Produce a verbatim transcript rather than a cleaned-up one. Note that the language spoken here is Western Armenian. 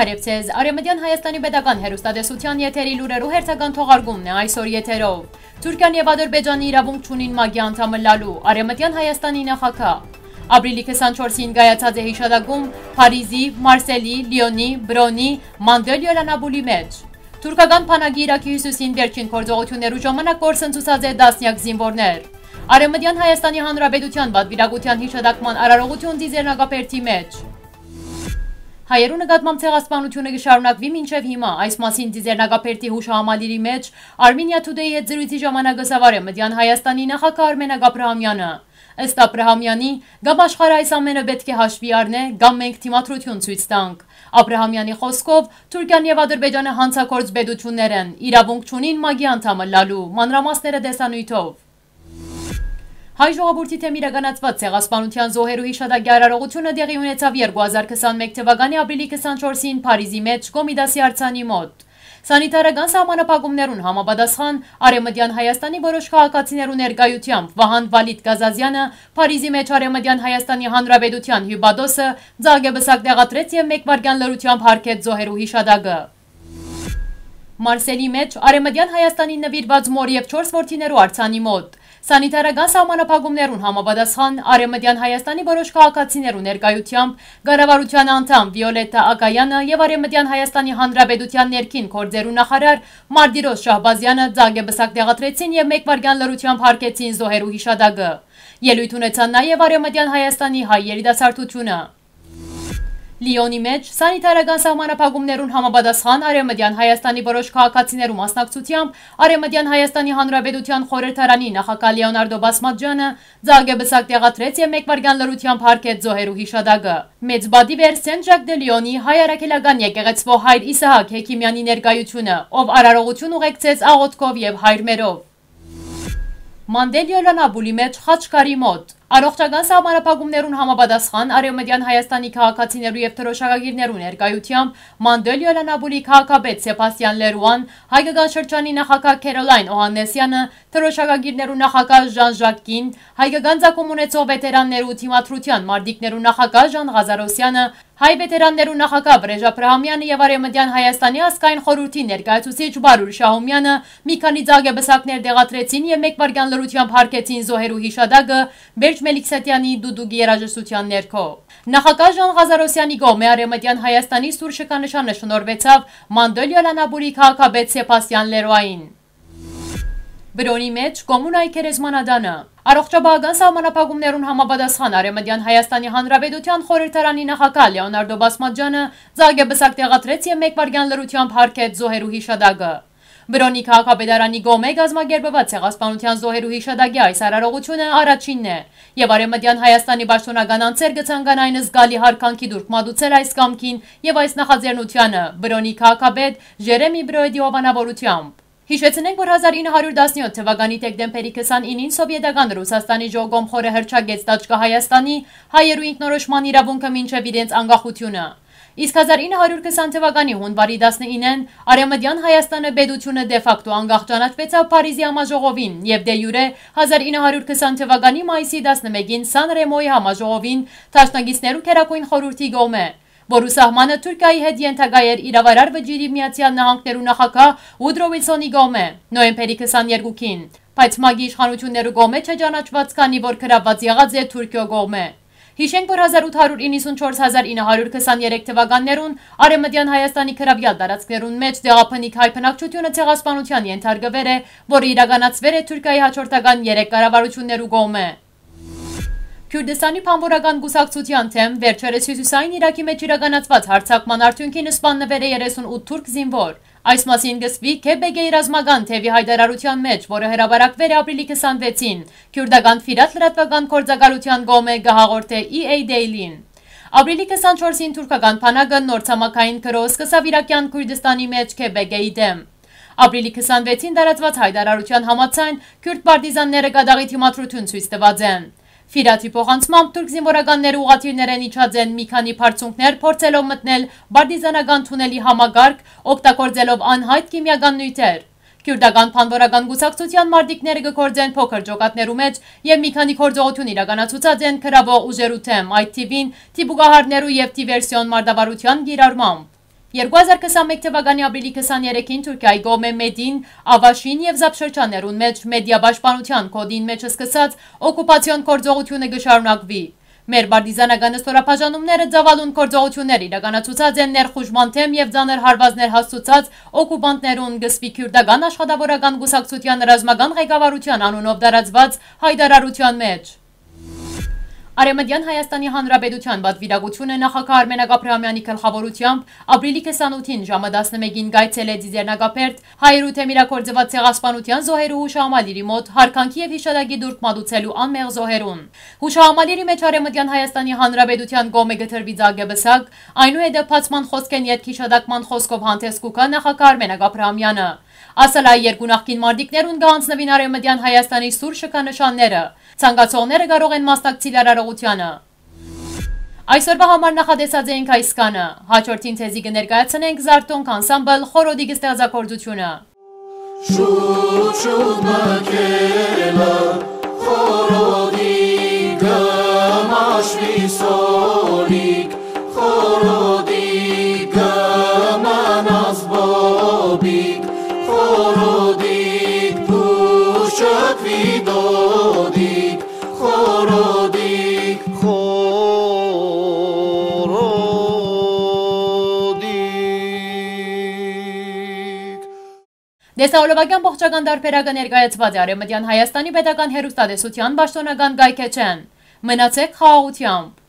Բարեւ ձեզ։ Արեւմտեան Հայաստանի պետական հեռուստատեսութեան եթերի լուրերու հերթական թողարկումն է այսօր եթերով։ Թուրքիան եւ Ադրբեջանը իրաւունք չունին ՄԱԿ-ի անդամ ըլլալու, Արեւմտեան Հայաստանի նախագահ։ Ապրիլի քսանչորսին կայացած է յիշատակում Փարիզի, Մարսելի, Լիոնի, Բրոնի, Մանդել Յոլանապուլի մէջ։ Թուրքական բանակի Իրաքի հիւսիսին վերջին գործողութիւններու ժամանակ կորսնցուցած է տասնեակ զինուորներ։ Արեւմտեան Հայաստանի Հանրապետութեան պատուիրակութեան յիշատակման արարողութիւն Ծիծեռնակաբերդի մէջ։ Հայերու նկատմամբ ցեղասպանութիւնը կը շարունակուի մինչեւ հիմա։ Այս մասին Ծիծեռնակաբերդի յուշահամալիրի մէջ Armenia Today-ի հետ զրոյցի ժամանակ ըսաւ Արեւմտեան Հայաստանի նախագահ Արմեն Աբրահամեանը։ Ըստ Աբրահամեանի, կամ աշխարհը այս ամէնը պէտք է հաշուի առնէ, կամ մենք դիմադրութիւն ցոյց տանք։ Աբրահամեանի խօսքով, Թուրքիան եւ Ադրբեջանը յանցագործ պետութիւններ են, իրաւունք չունին ՄԱԿ-ի անդամ ըլլալու, մանրամասները տեսանիւթով։ Հայ ժողովուրդի դէմ իրականացուած ցեղասպանութեան զոհերու յիշատակի արարողութիւնը տեղի ունեցաւ երկու հազար քսանմէկ թվականի ապրիլի քսանչորսին Փարիզի մէջ Կոմիտասի արձանի մօտ։ Սանիտարական սահմանափակումներուն համապատասխան, Արեւմտեան Հայաստանի որոշ քաղաքացիներու ներկայութեամբ Վահան Վալիդ Կազազյանը, Փարիզի մէջ Արեւմտեան Հայաստանի Հանրապետութեան հիւպատոսը, ծաղկեպսակ տեղադրեց եւ մէկ վայրկեան լռութեամբ յարգեց զոհերու յիշատակը։ Մարսելի մէջ Արեւմտեան Հայաստանին նուիրուած մօր եւ չորս որդիներու արձանի մօտ։ Սանիտարական սահմանափակումներուն համապատասխան, Արեւմտեան Հայաստանի որոշ քաղաքացիներու ներկայութեամբ կառավարութեան անդամ Վիոլետա Ակայանը եւ Արեւմտեան Հայաստանի Հանրապետութեան ներքին գործերու նախարար Մարտիրոս Շահբազյանը ծաղկեպսակ տեղադրեցին եւ մէկ վայրկեան լռութեամբ յարգեցին զոհերու յիշատակը։ Ելոյթ ունեցան նաեւ Արեւմտեան Հայաստանի հայ երիտասարդութիւնը։ Լիոնի մէջ սանիտարական սահմանափակումներուն համապատասխան Արեւմտեան Հայաստանի որոշ քաղաքացիներու մասնակցութեամբ Արեւմտեան Հայաստանի Հանրապետութեան խորհրդարանի նախագահ Լեոնարդո Բասմաճյանը ծաղկեպսակ տեղադրեց եւ մէկ վայրկեան լռութեամբ յարգեց զոհերու յիշատակը։ Մեծ պատիվ էր Սեն Ժակ դը Լիոնի հայ առաքելական եկեղեցւոյ հայր Իսահակ Հեքիմեանի ներկայութիւնը, ով արարողութիւն ուղեկցեց աղօթքով եւ հայրմերով։ Մանդել Յոլանապուլի մէջ խաչքարի մօտ։ Առողջական սահմանափակումներուն համապատասխան Արեւմտեան Հայաստանի քաղաքացիներու եւ դրօշակագիրներու ներկայութեամբ Մանդել Յոլանապուլի քաղաքապետ Սեբաստիան Լերուան, հայկական շրջանի նախագահ Քերոլայն Օհաննեսյանը, դրօշակագիրներու նախագահ Ժան Ժակ Կին, հայկական ծագում ունեցող վետերաններու դիմադրութեան մարտիկներու նախագահ Ժան Ղազարոսյանը, հայ վետերաններու նախագահ Վրեժ Աբրահամյանը եւ Արեւմտեան Հայաստանի ազգային խորհրդի ներկայացուցիչ Բարուր Շահումյանը մի քանի ծաղկեպսակներ տեղադրեցին եւ մէկ վայրկեան լռութեամբ յարգեցին զոհերու յիշատակը Բերջ Մելիքսեթեանի դուդուկի երաժշտութեան ներքո։ Նախագահ Ժան Ղազարոսյանի կողմէ Արեւմտեան Հայաստանի սուր շքանշանը շնորհուեցաւ Մանդոլ Յոլանապուրի քաղաքապետ Սեբաստիան Լերոային։ Բրոնի մէջ կոմունայի գերեզմանատանը։ Առողջապահական սահմանափակումներուն համապատասխան Արեւմտեան Հայաստանի Հանրապետութեան խորհրդարանի նախագահ Լեոնարդո Բասմաճյանը ծաղկեպսակ տեղադրեց եւ մէկ վայրկեան լռութեամբ յարգեց զոհերու յիշատակը։ Բրոնի քաղաքապետարանի կողմէ կազմակերպուած ցեղասպանութեան զոհերու յիշատակի այս արարողութիւնը առաջինն է եւ Արեւմտեան Հայաստանի պաշտօնական անձեր կը ցանկանային զգալի յարգանքի տուրք մատուցել այս կամքին եւ այս նախաձեռնությանը Բրոնի քաղաքապետ Ժերեմի Բրոյդի հովանավորութեամբ։ Յիշեցնենք, որ հազար ինը հարիւր տասնեօթ թվականի դեկտեմբերի քսանինին Սովետական Ռուսաստանի ժողոմխորը հռչակեց Տաճկա Հայաստանի հայերու ինքնորոշման իրաւունքը մինչեւ իրենց անկախութիւնը։ Իսկ հազար ինը հարիւր քսան թվականի յունուարի տասնինեն Արեւմտեան Հայաստանը պետութիւնը դե ֆակտո անկախ ճանաչուեցաւ Փարիզի համաժողովին եւ դե յուրե հազար ինը հարիւր քսան թվականի մայիսի տասնմէկին Սան Ռեմոյի համաժողովին Դաշնակիցներու Գերագույն Խորհուրդի կողմէ, որու սահմանը Թուրքիայի հետ ենթակայ էր իրավարար վճիռի Միացեալ Նահանգներու նախագահ Ուդրո Ուիլսոնի կողմէ նոյեմբերի քսաներկուին, բայց ՄԱԿ-ի իշխանութիւններու կողմէ չէ ճանաչուած, քանի որ գրաւուած եղած է Թուրքիոյ կողմէ։ Յիշենք, որ հազար ութ հարիւր իննսունչորս, հազար ինը հարիւր քսաներեք թվականներուն Արեւմտեան Հայաստանի գրաւեալ տարածքներուն մէջ տեղաբնիկ հայ բնակչութիւնը ցեղասպանութեան ենթարկուեր է, որը իրականացուեր է Թուրքիայի հաջորդական երեք կառավարութիւններու կողմէ։ Քուրդիստանի բանվորական կուսակցութեան դէմ վերջերս հիւսիսային Իրաքի մէջ իրականացուած յարձակման արդիւնքին սպաննուեր է երեսունութ թուրք զինուոր։ Այս մասին կ'ըսուի Քեբեկեի ռազմական թեւի յայտարարութեան մէջ, որը հրապարակուեր է ապրիլի քսանվեցին, քուրդական Ֆիրատ լրատուական գործակալութեան կողմէ, կը հաղորդէ E A Daily-ն։ Ապրիլի քսանչորսին թուրքական բանակը նոր ցամաքային գրոհ սկսաւ Իրաքեան Քուրդիստանի մէջ Քեբեկեի դէմ։ Ապրիլի քսանվեցին տարածուած յայտարարութեան համաձայն, քուրդ պարտիզանները կատաղի դիմադրութիւն ցոյց տուած են։ Ֆիրաթի փոխանցմամբ թուրք զինուորականները ուղղաթիռներէն իջած են մի քանի բարձունքներ, փորձելով մտնել պարտիզանական թունելի համակարգ, օգտագործելով անյայտ քիմիական նիւթեր։ Քուրդական բանվորական կուսակցութեան մարտիկները կը գործեն փոքր ջոկատներու մէջ եւ մի քանի գործողութիւն իրականացուցած են գրաւող ուժերու դէմ, այդ թիւին դիպուկահարներու եւ դիվերսիոն մարտավարութեան կիրառմամբ։ Երկու հազար քսանմեկ թվականի ապրիլի քսաներեքին Թուրքիայի կողմէ Մեդին, Ավաշին եւ Զապ շրջաններուն մէջ Մեդիա պաշտպանութեան գօտին մէջ սկսած օկուպացիոն գործողութիւնը կը շարունակուի։ Մեր պարտիզանական ստորաբաժանումները ծաւալուն գործողութիւններ իրականացուցած են ներխուժման դէմ եւ ծանր հարուածներ հասցուցած օկուպանտներուն, կը սպի քիւրտական աշխատաւորական կուսակցութեան ռազմական ղեկավարութեան անունով տարածուած յայտարարութեան մէջ։ Արեւմտեան Հայաստանի Հանրապետութեան պատուիրակութիւնը նախագահ Արմենակ Աբրահամեանի գլխաւորութեամբ ապրիլի քսանութին ժամը տասնմէկին կայցելեց Ձիծեռնակաբերդ հայերու դէմ իրագործուած ցեղասպանութեան զոհերու յուշահամալիրի մօտ յարգանքի եւ յիշատակի տուրք մատուցելու անմեղ զոհերուն։ Յուշահամալիրի մէջ Արեւմտեան Հայաստանի Հանրապետութեան կողմէ կը տրուի ծաղկեպսակ, այնուհետեւ բացման խօսքէն ետք յիշատակման խօսքով հանդէս կու գայ նախագահ Արմենակ Աբրահամեանը։ Ասալայ երկու նախկին մարտիկներուն կը յանձնուին Արեւմտեան Հայաստանի սուր շքանշանները։ Ցանկացողները կարող են մասնակցիլ արարողությանը։ Այսօրվա համար նախատեսած էինք այսքանը։ Հաջորդին ձեզի կը ներկայացնենք Զարթոնք անսամբլ Խորոդիկ ստեղծագործութիւնը։ Շուշուտ մը քելը, խորոդի կը մաշվի սորիկ, խորոդի կը մնաս բոբիկ, խորոդի փուշկվի դոդիկ, խորոդի, խորոդի։ Տեսահոլովակեան ողջական տարբերակը ներկայացուած է Արեւմտեան Հայաստանի Պետական Հեռուստատեսութեան պաշտօնական կայքէջէն։ Մնացեք խաղաղութեամբ։